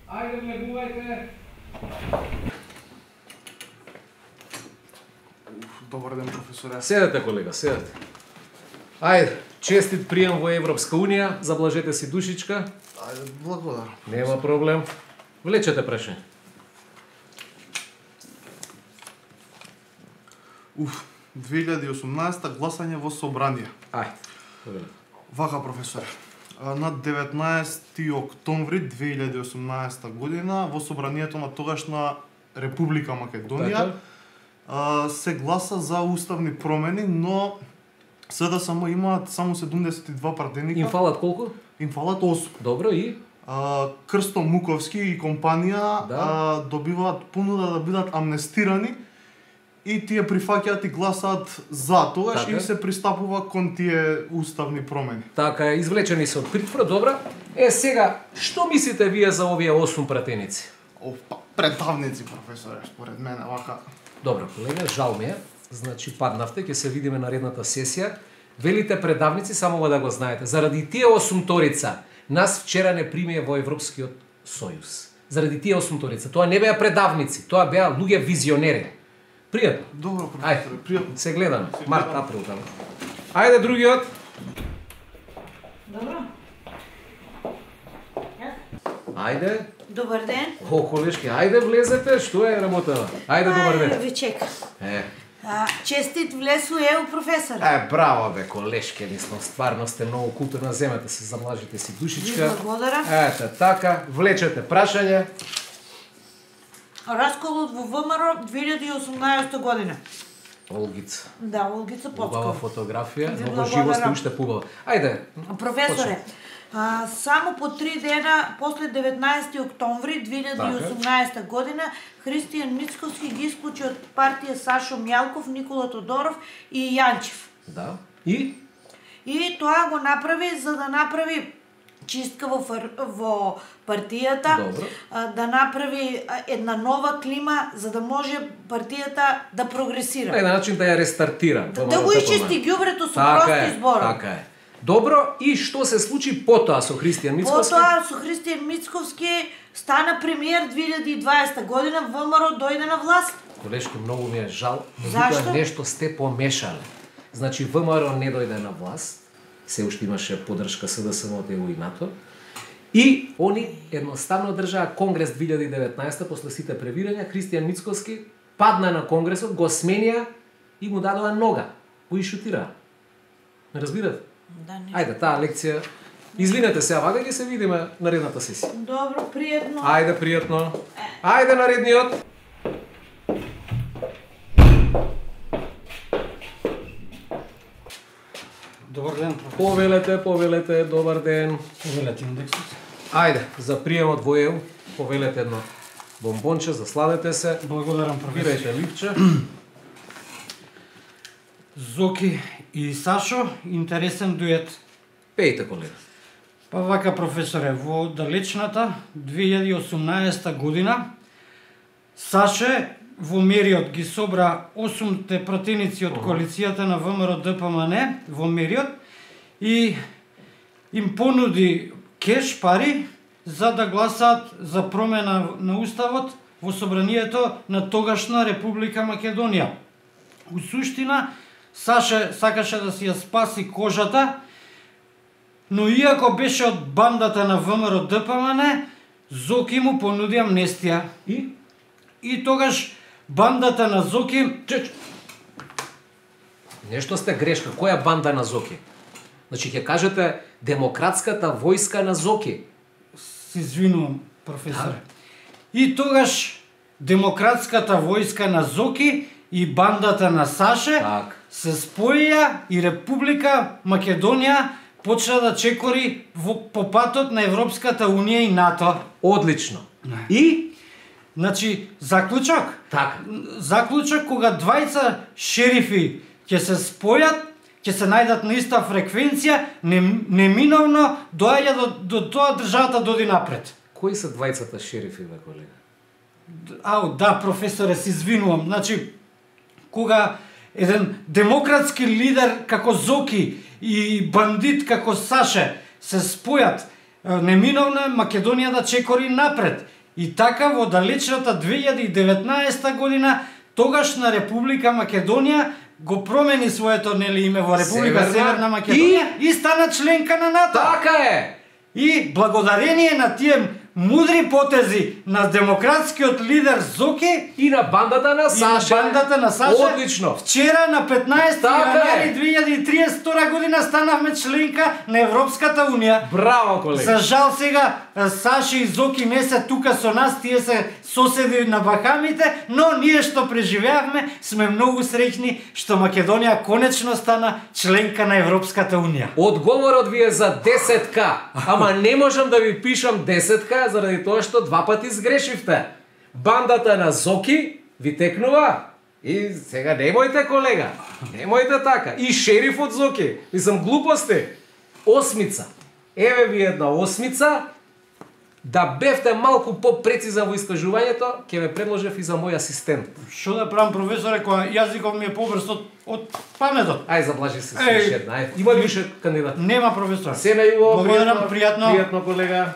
Ајде, влегувајте. Добар ден, професоре. Седете, колега, седете. Ајде, честит прием во Европска Унија, заблажете си душичка. Ајде, благодарам. Нема проблем. Влечете прашање. 2018 гласање во собрание. Ајде. Вака, професоре. На 19 октомври 2018 година во собранието на тогашна Република Македонија се гласа за уставни промени, но СДСМ имаат само 72 пратеника. Им фалат колку? Им фалат 8. Добро, и? Крсто Муковски и компанија добиваат понуда да бидат амнестирани и тие прифаќаат и гласаат за тогаш и се пристапува кон тие уставни промени. Така, извлечени се од притвор, добро. Сега, што мислите вие за овие 8 пратеници? Предавници, професоре, според мене, вака. Добро, колега, жал ми е. Значи, паднавте, ќе се видиме наредната сесија. Велите предавници, само да го знаете. Заради тие 8-торица, нас вчера не примија во Европскиот Сојуз. Заради тие 8-торица. Тоа не беа предавници, тоа беа луѓе визионери. Пријатно. Добро, професоре, пријатно. Се гледаме. Март, април таму. Ајде другиот. Добро. Ајде. Добар ден. Колешки, ајде влезете, што е работа? Ајде, добар ден. Ви чекам. Честит влез у ЕУ, професор. Браво бе, колешки, стварно сте многу културна, земете се, замлажите си душичка. Ви благодарам. Ете, така, влечете прашање. Расколот во ВМРО 2018 година. Олгица. Да, Олгица Поцкова. Убава фотографија, но во живо сте уште пубава. Ајде. Професоре, само по 3 дена после 19 октомври 2018 година Христијан Мицковски ги исклучи од партија Сашо Мјалков, Никола Тодоров и Јанчев. Да. И тоа го направи за да направи чистка во партијата, да направи една нова клима за да може партијата да прогресира. На еден начин да ја рестартира. Да го исчисти ѓубрето со прости зборови. Така е. Добро, и што се случи потоа со Христијан Мицковски? Потоа со Христијан Мицковски стана премиер 2020 година, ВМРО дојде на власт. Колешки, многу ми е жал. Зашто? Нешто сте помешале. Значи, ВМРО не дојде на власт, се уште имаше поддршка СДСМ од ЕУ и НАТО, и они едноставно држаа Конгрес 2019 после сите превирања. Христијан Мицковски падна на Конгресот, го сменија и му дадоа нога. Го ишутираа. Не разбирате? Да, не. Ајде, таа лекција. Извинете се, вака ќе се видиме наредната сесија. Добро, пријатно. Ајде, пријатно. Ајде, наредниот. Добар ден, професор. Повелете, добар ден. Повелете индексот. Ајде, за приемот во ЕУ, повелете едно бомбонче, засладете се. Благодарам, професор. Бирајте липче. Зоки и Сашо, интересен дует. Пејте, колега. Па вака, професоре, во далечната 2018 година Саше во Мериот ги собра 8 пратеници од коалицијата на ВМРО ДПМН во Мериот и им понуди кеш пари за да гласаат за промена на уставот во собранието на тогашна Република Македонија. У суштина, Саше сакаше да си ја спаси кожата, но иако беше од бандата на ВМРО ДПМН, Зоки му понуди амнестија. И тогаш бандата на Зоки... Нешто сте грешка. Која банда на Зоки? Значи, ќе кажете демократската војска на Зоки. Се извинувам, професоре. И тогаш демократската војска на Зоки и бандата на Саше се споија и Република Македонија почна да чекори по патот на Европската Унија и НАТО. Одлично. И? Значи, заклучок? Така. Заклучок кога двајца шерифи ќе се спојат, ќе се најдат на иста фреквенција, неминовно доаѓа до тоа државата доди напред. Кои се двајцата шерифи, бе, колега? Да, професоре, се извинувам. Значи, кога еден демократски лидер како Зоки и бандит како Саше се спојат, неминовно е Македонија да чекори напред. И така во далечната 2019 година тогашна Република Македонија го промени своето име во Република Северна Македонија и стана членка на НАТО. Така е. И благодарение на тие мудри потези на демократскиот лидер Зоки и на бандата на Саша. Одлично. Вчера на 15 јануари 2032 година станавме членка на Европската унија. Браво, колега. За жал сега Саша и Зоки не се тука со нас, тие се соседи на Бахамите, но ние што преживеавме сме многу среќни што Македонија конечно стана членка на Европската унија. Одговорот ви е за 10к, ама не можам да ви пишам 10к заради тоа што два пати сгрешивте. Бандата на Зоки ви текнува. И сега немојте, колега. Немојте така. И шерифот Зоки. Мислам, глупости. Осмица. Еве ви една осмица. Да бевте малку попрецизен во искажувањето, ќе ве предложев и за мој асистент. Што да правам, професоре, која јазиков ми е побрз од паметот? Ај, заблажи се, слушай една. Има ли више кандидат? Нема, професор. Се на Јуво, благодарам, пријатно. Пријатно, колега.